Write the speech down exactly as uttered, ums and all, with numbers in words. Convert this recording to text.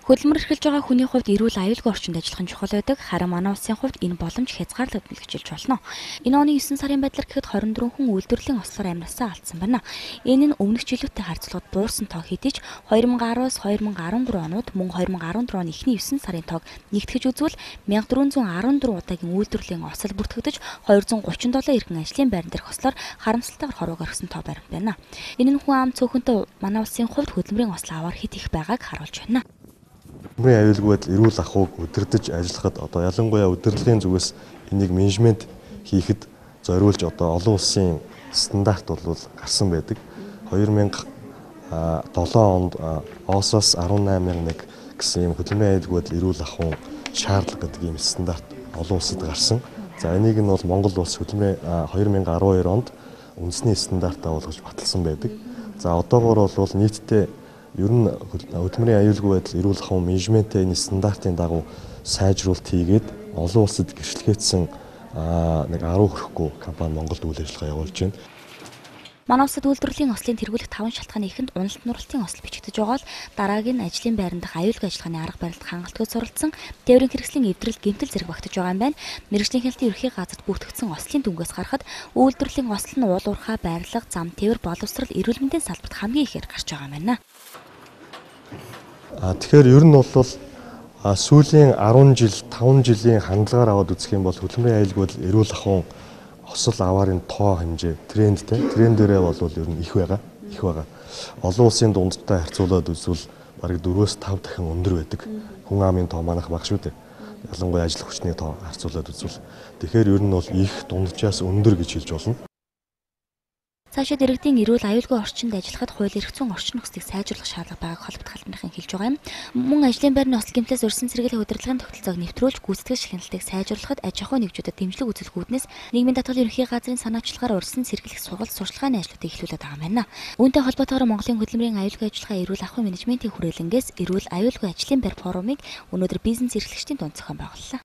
Хөдөлмөр эрхэлж байгаа хүний хувьд эрүүл аюулгүй орчинд ажиллах нь чухал байдаг. Харин манай улсын хувьд энэ боломж хязгаарлагдана гэж хэлж болно. Энэ оны есөн сарын байдлаар гэхэд хорин дөрвөн хүн үйлдвэрлэлийн ослоор амнасаа алдсан байна. Энэ нь өмнөх жилүүтэй харьцуулахад буурсан тоо хэдий ч хоёр мянган араас хоёр мянган арван дөрвөн онууд мөн хоёр мянган арван дөрвөн оны эхний есөн сарын тоог нэгтгэж үзвэл мянга дөрвөн зуун арван дөрвөн удаагийн үйлдвэрлэлийн осол бүртгэгдэж хоёр зуун гучин долоо эргэн ажлын байран дээрх ослоор харамсалтайгаар хорвоо гаргасан тоо баримт байна. Энэ нь хүн ам цөөхөнтэй манай улсын хувьд хөдөлмөрийн осол аваар хит их байгааг харуулж байна. Хөдөлмөрийн аюулгүй байдал эрүүл ахуйг удирдах ажиллахад одоо ялангуяа удирдлагын зүгээс энийг менежмент хийхэд зориулж одоо олон улсын стандарт бол гарсан байдаг. хоёр мянган долоо онд ООС-оос арван найман нэг гэсэн юм хөдөлмөрийн аюулгүй байдал эрүүл ахуйн шаардлага гэдэг ийм стандарт олон улсад гарсан. За энийг нь бол Монгол улс хөдөлмөрийн хоёр мянган арван хоёр онд үндэсний стандартаа болгож баталсан байдаг. За одоогоор бол нийтдээ ер нь хөдөлмөрийн аюулгүй байдал эрүүл ахуйн менежментээ энэ стандартын дагуу сайжруулалт хийгээд олон улсад гэрчлэгээдсэн нэг арван хүрэхгүй компани Монголд үйл ажиллагаа явуулж байна. Манай улсад үйлдвэрлэлийн ослын тэргүүлэх таван шалтгааны эхэнд уналт нуралтын осол бичигдэж байгаа л дарааг нь ажлын байран дахь аюулгүй ажиллагааны арга барилд хангалтгүй суралцсан тээврийн хэрэгслийн эвдрэл гэмтэл зэрэг багтаж байгаа юм байна. Мэргэжлийн хяналтын ерхий газарт бүртгэгдсэн ослын дүнгээс харахад үйлдвэрлэлийн осол нь уул уурхай, байрлал, зам, тээвэр, боловсрал, эрүүл мэндийн салбарт хамгийн ихээр гарч байгаа юм байна. А тэгэхээр ер нь бол сүүлийн арван жил, таван жилийн хандлагаар аваад үзэх юм бол хөдөлмөрийн аюулгүй байдал эрүүл ахуйн осол аваарын тоо хэмжээ трендтэй. Трендээрээ бол ер нь их байгаа, их байгаа. Олон улсын дундтай харьцуулаад үзвэл бараг дөрвөөс тав дахин өндөр байдаг. Хүн амын тоо манайх бага шүү дээ. Ялангуяа ажил хүчний тоо харьцуулаад үзвэл. Тэгэхээр ер нь бол их дунджаас өндөр гэж хэлж болно. Цаашид иргэдийн эрүүл аюулгүй орчинд ажиллахад хууль эрх зүйн орчин нөхцөлийг сайжруулах шаардлага байгааг холбогд халбарын хэлж байгаа юм. Мөн ажлын байрны осол гэмтээс урьдчилан сэргийлэх удирдлагын тогтолцоог нэвтрүүлж гүйцэтгэх шагналтыг сайжруулахад аж ахуйн нэгжүүдэд дэмжлэг үзүүлэхүүднээс нийгмийн татгалын ерөнхий газрын санаачлагаар урьдчилан сэргийлэх сургалт сурчлагын ажлуудыг эхлүүлээд байгаа юм байна. Үүнтэй холбоотойгоор Монголын хөдөлмөрийн аюулгүй ажиллагаа эрүүл ахуйн менежментийн хүрээлэнгээс эрүүл аюулгүй ажлын байр форумыг өнөөдөр бизнес эрхлэгчдийн дунд зохион байгууллаа.